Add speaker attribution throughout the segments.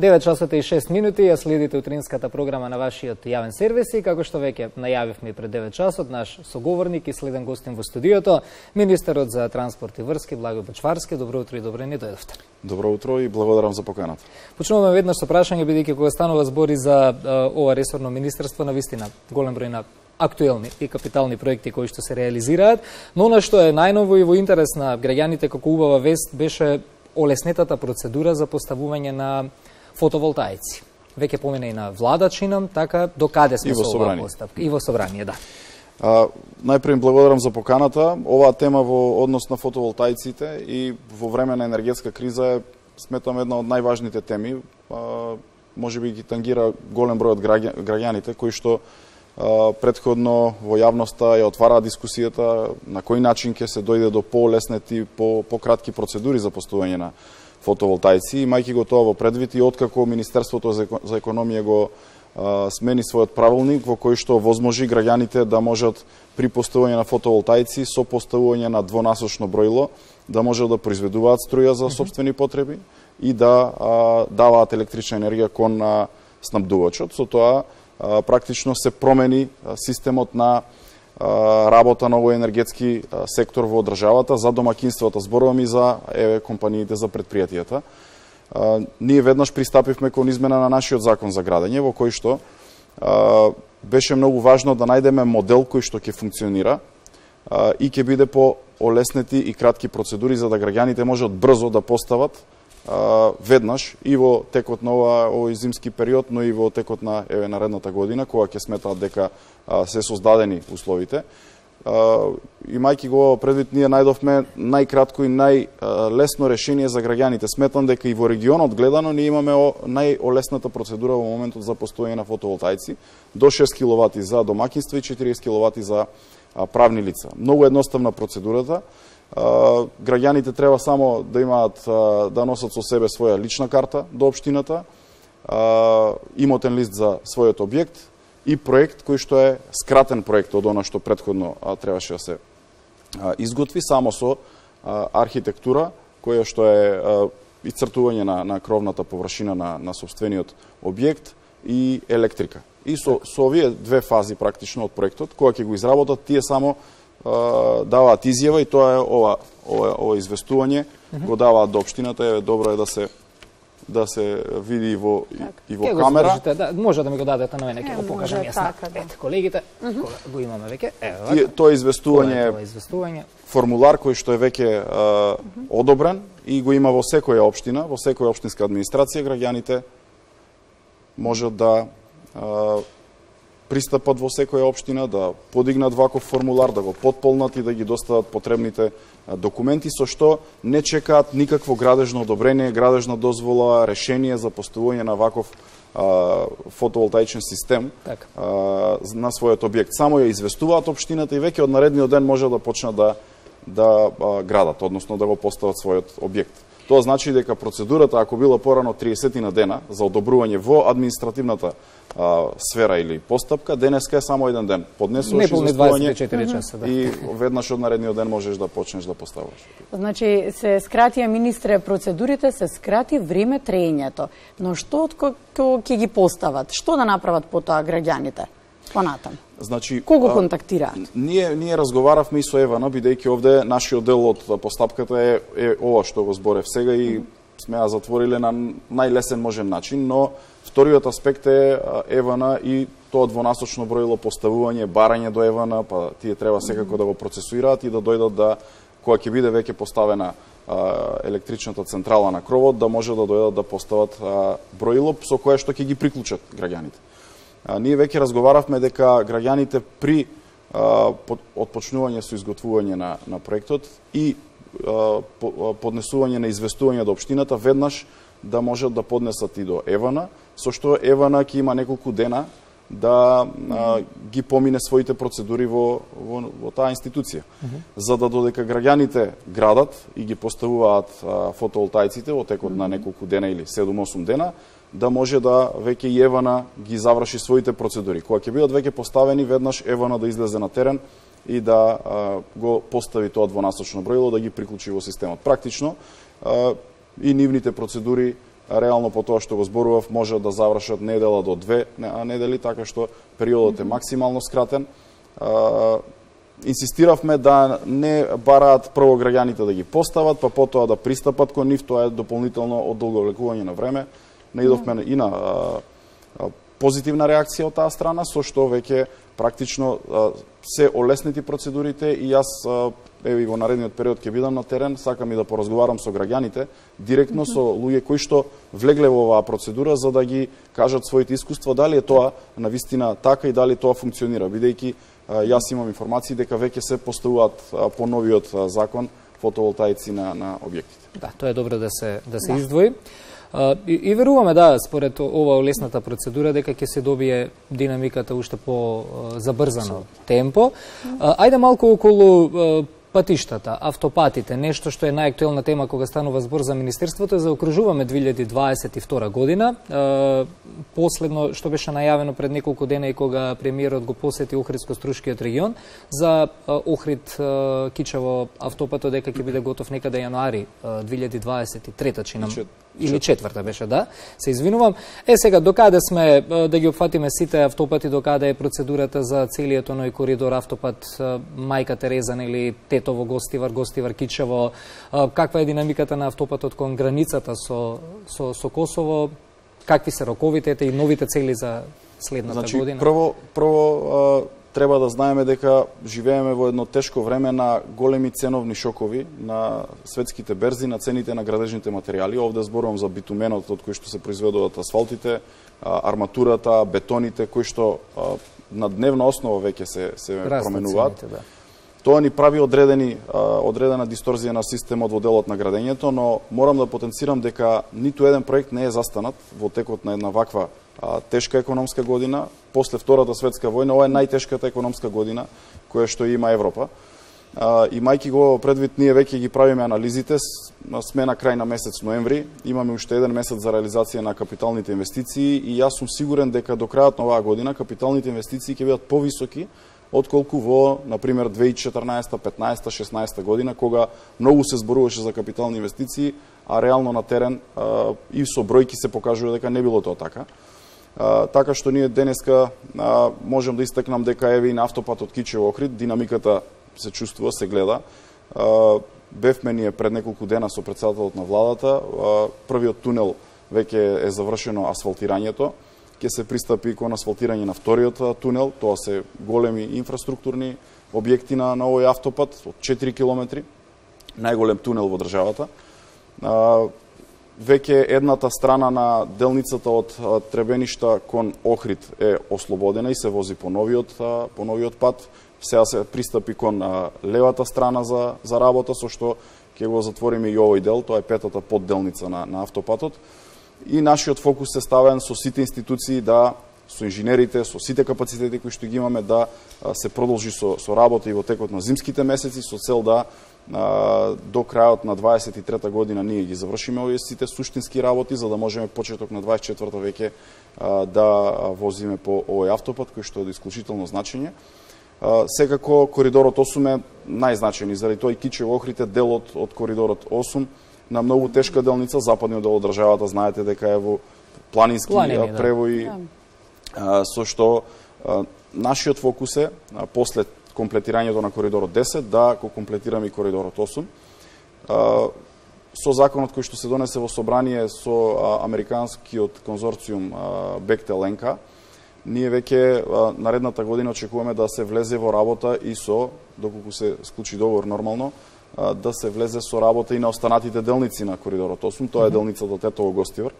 Speaker 1: 9 часот и 6 минути, ја следите утринската програма на вашиот јавен сервис и како што веќе најавивме пред 9 часот, наш соговорник и следен гостин во студиото, министерот за транспорт и врски Благој Бочварски. Добро утро и добре ни дојдовте.
Speaker 2: Добро утро и благодарам за поканата.
Speaker 1: Почнуваме веднаш со прашање, бидејќи кога станува збори за ова ресорно министерство, навистина голем број на актуелни и капитални проекти кои што се реализираат, но она што е најново и во интерес на граѓаните како убава вест беше олеснетата процедура за поставување на фотоволтаици. Веќе помина и на влада чинам, така до каде сме со оваа постапка? И во собрание, да.
Speaker 2: Најпред благодарам за поканата. Оваа тема во однос на фотоволтаиците и во време на енергетска криза е, сметам, една од најважните теми. Можеби ги тангира голем број од граѓаните кои што претходно во јавноста ја отвара дискусијата на кој начин ќе се дојде до поолеснети, пократки процедури за поставување на фотоволтаици. Имајќи го тоа во предвид и откако Министерството за економија го смени својот правилник во кој што возможи граѓаните да можат при поставување на фотоволтаици со поставување на двонасочно бројло да можат да произведуваат струја за сопствени потреби и да даваат електрична енергија кон снабдувачот. Со тоа практично се промени системот на работа на овој енергетски сектор во државата за домакинствата, зборувам и за компаниите, за предпријатијата. Ние веднаш пристапивме кон измена на нашиот закон за градење, во кој што беше многу важно да најдеме модел кој што ќе функционира и ќе биде по олеснети и кратки процедури за да граѓаните можат брзо да постават веднаш и во текот на овој зимски период, но и во текот на наредната година, кога ќе сметаат дека се создадени условите. Имајќи го предвид, ние најдовме најкратко и најлесно решение за граѓаните. Сметам дека и во регионот гледано ние имаме најолесната процедура во моментот за поставување на фотоволтаици, до 6 киловати за домакинства и 40 киловати за правни лица. Многу едноставна процедурата. Граѓаните треба само да имаат, да носат со себе своја лична карта до општината, имотен лист за својот објект и проект кој што е скратен проект од она што претходно требаше да се изготви, само со архитектура која што е ицртување на кровната површина на сопствениот објект и електрика. И со овие две фази практично од проектот, кога ќе го изработат, тие само даваат изјава и тоа е ова известување, го даваат до општината. Добро е да се види и во камера.
Speaker 1: Да, може да ми го дадете на мене, ќе го покажам јас на колегите, го имаме веќе.
Speaker 2: Тоа известување формулар кој што е веќе одобрен и го има во секоја општина, во секоја општинска администрација. Граѓаните можат да пристапат во секоја општина, да подигнат ваков формулар, да го потполнат и да ги достават потребните документи, со што не чекаат никакво градежно одобрение, градежна дозвола, решение за поставување на ваков фотоволтаичен систем на својот објект. Само ја известуваат општината и веќе од наредниот ден може да почнат да градат, односно да го постават својот објект. Тоа значи дека процедурата, ако била порано 30 на дена за одобрување во административната сфера или постапка, денеска е само еден ден. Поднесуваш известување и веднаш од наредниот ден можеш да почнеш да поставаш.
Speaker 3: Значи, се скратија, министре, процедурите, се скрати време траењето. Но што ќе ги постават? Што да направат по тоа граѓаните? Понатам.
Speaker 2: Значи,
Speaker 3: кого контактираат?
Speaker 2: Ние разговаравме и со Евана, бидејќи овде нашиот дел од постапката е ова што го зборев сега и сме ја затвориле на најлесен можен начин, но вториот аспект е Евана и тоа двонасочно бројло поставување, барање до Евана, па тие треба секако да го процесуираат и да дојдат кога ќе биде веќе поставена електричната централа на кровот, да може да дојдат да постават бројло со кое што ќе ги приклучат граѓаните. Ние веќе разговаравме дека граѓаните при отпочнување со изготвување на проектот и поднесување на известување до општината веднаш да можат да поднесат и до Евана, со што Евана ќе има неколку дена да ги помине своите процедури во таа институција. За да додека граѓаните градат и ги поставуваат фотоволтаиците во текот на неколку дена или 7-8 дена, да може да веќе и Евана ги заврши своите процедури. Кога ќе бидат веќе поставени, веднаш Евана да излезе на терен и да го постави тоа двонасочно бројло, да ги приклучи во системот. Практично и нивните процедури реално по тоа што го зборував, може да завршат недела до 2 недели, така што периодот е максимално скратен. Инсистиравме да не бараат прво граѓаните да ги постават, па потоа да пристапат кон нив, тоа е дополнително одолговлекување на време. Наидовме и на позитивна реакција од таа страна, со што веќе практично се олеснети процедурите и јас еве во наредниот период ќе бидам на терен, сакам и да поразговарам со граѓаните, директно со луѓе кои што влегле во оваа процедура за да ги кажат своите искуства дали е тоа навистина така и дали тоа функционира, бидејќи јас имам информации дека веќе се поставуваат по новиот закон фотоволтаици на објектите.
Speaker 1: Да, тоа е добро да се издвои. И веруваме, да, според ова олесната процедура, дека ќе се добие динамиката уште по забрзано темпо. Ајде малку околу патиштата, автопатите, нешто што е најактуелна тема кога станува збор за Министерството, заокружуваме 2022 година. Последно, што беше најавено пред неколку дена и кога премиерот го посети Охридско-Струшкиот регион, за Охрид-Кичево автопатот дека ќе биде готов некаде јануари 2023 чинам. Или четврта беше, да, се извинувам. Сега, докаде сме да ги опфатиме сите автопати, докаде е процедурата за целиот оној коридор автопат Мајка Терезан или Тетово, Гостивар, Гостивар, Кичево, каква е динамиката на автопатот кон границата со Косово, какви се роковите и новите цели за следната година?
Speaker 2: Прво треба да знаеме дека живееме во едно тешко време на големи ценовни шокови на светските берзи, на цените на градежните материјали. Овде зборувам за битуменот од кој што се произведуваат асфалтите, арматурата, бетоните, кои што на дневна основа веќе се променуваат.
Speaker 1: Цените, да.
Speaker 2: Тоа ни прави одредена дисторзија на системот во делот на градењето, но морам да потенцирам дека ниту еден проект не е застанат во текот на една ваква тешка економска година. После Втората светска војна, ова е најтешката економска година која што има Европа. Имајќи го предвид, ние веќе ги правиме анализите, сме на крај на месец ноември, имаме уште еден месец за реализација на капиталните инвестиции и јас сум сигурен дека до крајот на оваа година капиталните инвестиции ќе бидат повисоки отколку во, например, 2014, 15, 16 година, кога многу се зборуваше за капитални инвестиции, а реално на терен и со бројки се покажува дека не било тоа така. Така што ние денеска можем да истакнам дека еве и на автопатот Кичево-Охрид динамиката се чувствува, се гледа. Бевме ние пред неколку дена со претседателот на владата, првиот тунел веќе е завршено асфалтирањето, ќе се пристапи кон асфалтирање на вториот тунел, тоа се големи инфраструктурни објекти на овој автопат од 4 километри, најголем тунел во државата. Веќе едната страна на делницата од Требеништа кон Охрид е ослободена и се вози по новиот пат. Сега се пристапи кон левата страна за работа, со што ќе го затвориме и овој дел, тоа е петата подделница на автопатот. И нашиот фокус е ставен со сите институции, со инженерите, со сите капацитети кои што ги имаме, да се продолжи со работа и во текот на зимските месеци, со цел да до крајот на 23-та година ние ги завршиме овие сите суштински работи, за да можеме почеток на 24-та веќе да возиме по овој автопат, кој што е од исклучително значење. Секако коридорот 8 е најзначајен, заради тоа и Кичево-Охрид е дел од коридорот 8, на многу тешка делница, западниот дел од државата, знаете дека е во планински превои, со што нашиот фокус е, после комплетирањето на коридорот 10, да го комплетираме и коридорот 8. Со законот кој што се донесе во собрание со американскиот конзорциум Бехтел-НК, ние веќе наредната година очекуваме да се влезе во работа и со, доколку се склучи договор нормално, да се влезе со работа и на останатите делници на коридорот 8, тоа е делницата Тетово-Гостивар.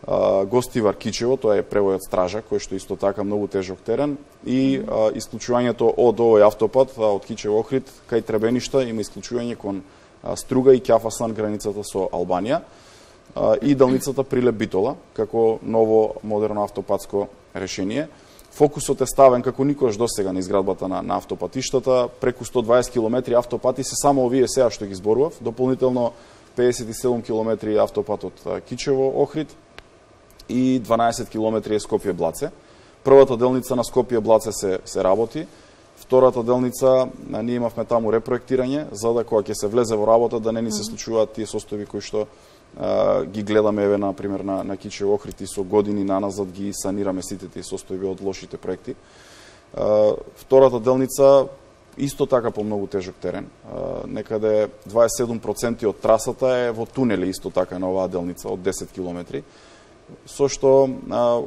Speaker 2: Гостивар-Кичево, тоа е превојот Стража, кој што исто така многу тежок терен, и исклучувањето од овој автопат, од Кичево-Охрид, кај Требеништа, има исклучување кон Струга и Ќафасан, границата со Албанија, и делницата Прилеп-Битола, како ново модерно автопатско решение. Фокусот е ставен како никош досега на изградбата на автопатиштата, преку 120 км автопати се само овие сега што ги зборував, дополнително 57 км автопат од Кичево-Охрид и 12 км е Скопје-Блаце. Првата делница на Скопје-Блаце се работи, втората делница ние имавме таму репроектирање, за да кога ќе се влезе во работа да не ни се случуваат тие состојби кои што ги гледаме, еве, например, на Кичев Охрид и со години наназад ги санираме сите тие состојби од лошите проекти. Втората делница, исто така по многу тежок терен. Некаде 27% од трасата е во тунели, исто така на оваа делница, од 10 километри, со што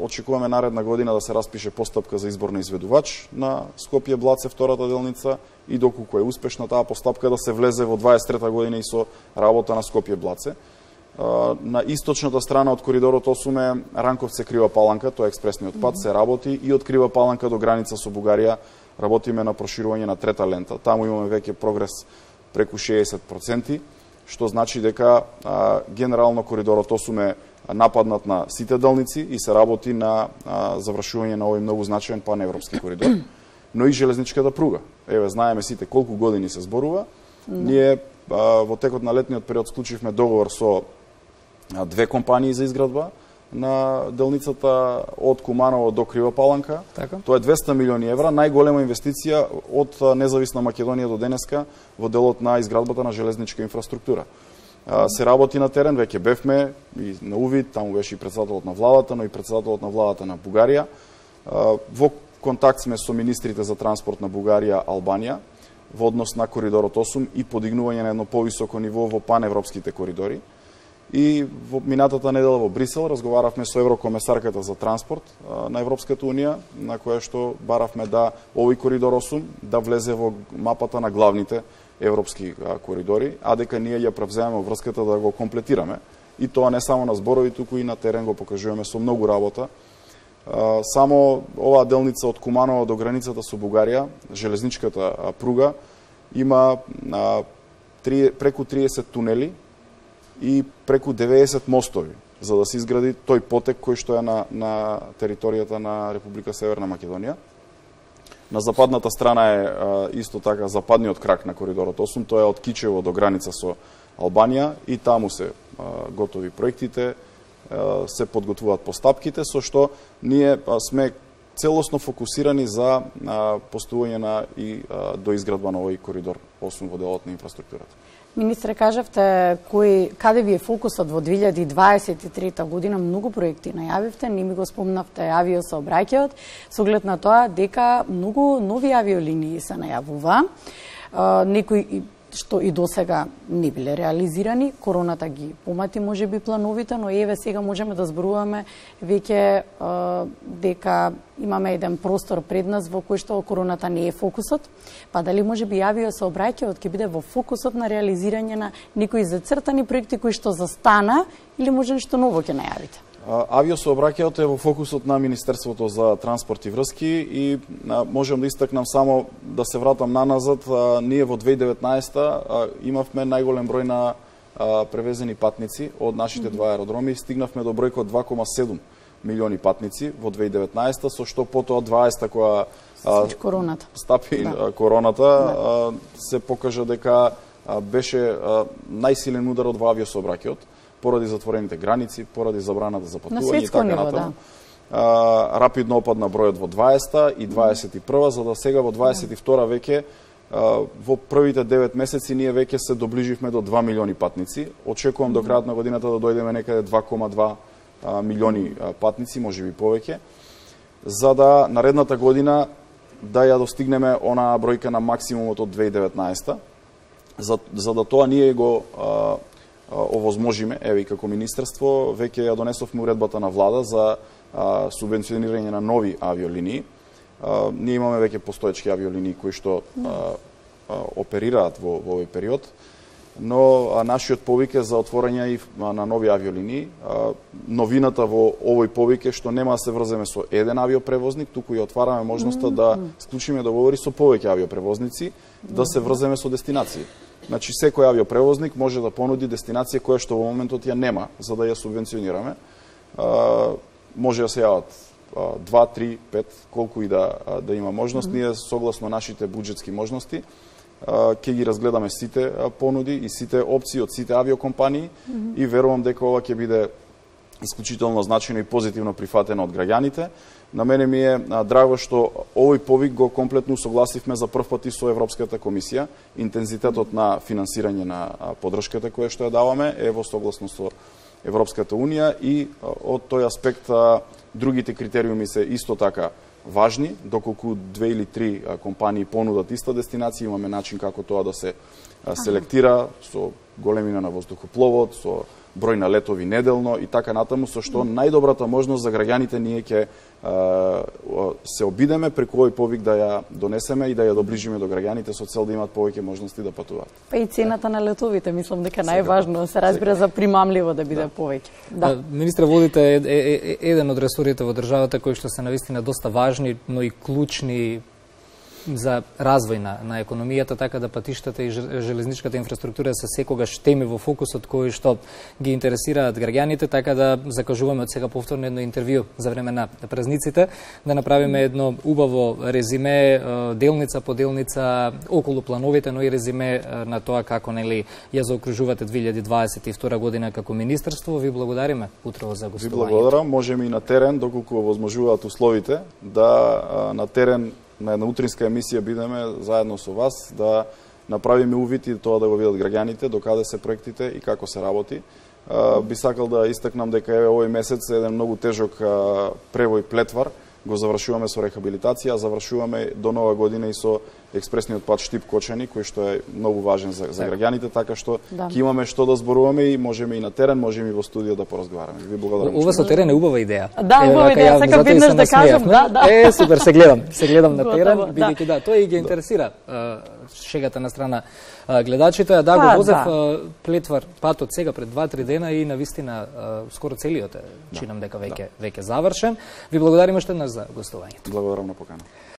Speaker 2: очекуваме наредна година да се распише постапка за избор на изведувач на Скопје-Блаце, втората делница, и доколку е успешна таа постапка да се влезе во 23-та година и со работа на Скопје-Блаце. На источната страна од коридорот 8 е Ранковце-Крива Паланка, тоа е експресниот пат, се работи и од Крива Паланка до граница со Бугарија работиме на проширување на трета лента. Таму имаме веќе прогрес преку 60%, што значи дека генерално коридорот 8 е нападнат на сите делници и се работи на завршување на овој многу значаен паневропски коридор, но и железничката пруга. Еве, знаеме сите колку години се зборува. Ние во текот на летниот период склучивме договор со две компании за изградба на делницата од Куманово до Крива Паланка.
Speaker 1: Така.
Speaker 2: Тоа е 200 милиони евра, најголема инвестиција од независна Македонија до денеска во делот на изградбата на железничка инфраструктура. Се работи на терен, веќе бевме и на увид, таму беше и председателот на владата, но и председателот на владата на Бугарија. Во контакт сме со министрите за транспорт на Бугарија, Албанија, во однос на коридорот 8 и подигнување на едно повисоко ниво во паневропските коридори. И во минатата недела во Брисел разговаравме со еврокомесарката за транспорт на Европската унија, на која што баравме да овој коридор 8 да влезе во мапата на главните европски коридори, а дека ние ја превземаме врската да го комплетираме. И тоа не само на зборови, туку и на терен го покажуваме со многу работа. Само оваа делница од Куманово до границата со Бугарија, железничката пруга, има преку 30 тунели и преку 90 мостови, за да се изгради тој потек кој што е на територијата на Република Северна Македонија. На западната страна е исто така западниот крак на коридорот 8, тоа е од Кичево до граница со Албанија и таму се готови проектите, се подготвуваат постапките, со што ние сме целосно фокусирани за поставување на и до изградба на овој коридор 8 во делот на инфраструктурата.
Speaker 3: Министре, кажавте каде ви е фокусот во 2023 година, многу проекти најавивте, не ми го спомнавте авиосообраќајот, со оглед на тоа дека многу нови авиолинии се најавува, некои што и досега не биле реализирани, короната ги помати можеби плановите, но еве сега можеме да зборуваме веќе дека имаме еден простор пред нас во кој што короната не е фокусот, па дали можеби авиосообраќајот ќе биде во фокусот на реализирање на некои зацртани проекти кои што застана или може нешто ново ќе најавите?
Speaker 2: Авиосообраќајот е во фокусот на Министерството за транспорт и врски и можам да истакнам само да се вратам наназад. Ние во 2019 имавме најголем број на превезени патници од нашите два аеродроми. Стигнавме до бројка од 2,7 милиони патници во 2019, со што потоа 20 која стапи короната, се покажа дека беше најсилен удар во авиосообраќајот, поради затворените граници, поради забраната за патување и така натаму. Рапидно опадна бројот во 20 и 21, за да сега во 22 веќе во првите 9 месеци ние веќе се доближивме до 2 милиони патници. Очекувам до крајот на годината да дојдеме некаде 2,2 милиони патници, можеби повеќе, за да наредната година да ја достигнеме онаа бројка на максимумот од 2019. За да тоа ние го овозможиме, еве како министерство, веќе ја донесовме уредбата на влада за субвенционирање на нови авиолинии. Ние имаме веќе постоечки авиолинии кои што оперираат во овој период, но нашиот повик е за отворање и на нови авиолинии. Новината во овој повик е што нема да се врземе со еден авиопревозник, туку и отвараме можноста да склучиме договори со повеќе авиопревозници, да се врземе со дестинации. Значи, секој авиопревозник може да понуди дестинација која што во моментот ја нема, за да ја субвенционираме. Може да се јават 2, 3, 5, колку и да има можност. Ние, согласно нашите буџетски можности, ќе ги разгледаме сите понуди и сите опции од сите авиокомпании и верувам дека ова ќе биде исклучително значајно и позитивно прифатено од граѓаните. На мене ми е драго што овој повик го комплетно согласивме за прв пат и со Европската комисија. Интензитетот на финансирање на поддршката која што ја даваме е во согласно со Европската Унија и од тој аспект другите критериуми се исто така важни, доколку 2 или 3 компании понудат иста дестинација, имаме начин како тоа да се селектира со големина на воздухопловот, со број на летови неделно и така натаму, со што најдобрата можност за граѓаните ние ќе се обидеме преку овој повик да ја донесеме и да ја доближиме до граѓаните со цел да имаат повеќе можности да патуваат.
Speaker 3: Па и цената на летовите, мислам дека најважно се разбира за примамливо да биде повеќе. Да.
Speaker 1: Министре, водите еден од ресорите во државата кои што се навистина доста важни, но и клучни за развој на економијата, така да патиштата и железничката инфраструктура се секогаш теми во фокусот кои што ги интересираат граѓаните, така да закажуваме од сега повторно едно интервју за време на празниците, да направиме едно убаво резиме, делница по делница околу плановите, но и резиме на тоа како нели ја заокружувате 2022 година како министерство. Ви благодариме утрово за гостување.
Speaker 2: Ви благодарам, можеме и на терен, доколку возможуваат условите, да на терен на една утринска емисија бидеме заедно со вас, да направиме увид и тоа да го видат граѓаните, докаде се проектите и како се работи. Би сакал да истакнам дека овој месец еден многу тежок превој Плетвар го завршуваме со рехабилитација, завршуваме до нова година и со експресниот пат Штип-Кочани, кој што е многу важен за граѓаните, така што ќе имаме што да зборуваме и можеме и на терен, можеме и во студио да поразговараме. Ви благодарам.
Speaker 1: Ова со терен е убава идеја.
Speaker 3: Да, убава идеја, сакам веднаш да кажам, да.
Speaker 1: Супер, се гледам на терен, бидејќи да, тоа и ги интересира шегата на страна гледачите. Да, го возев Плетвар патот сега пред 2-3 дена и навистина скоро целиот е, чинам дека веќе завршен. Ви благодариме уште еднаш за гостувањето.
Speaker 2: Благодарам на покана.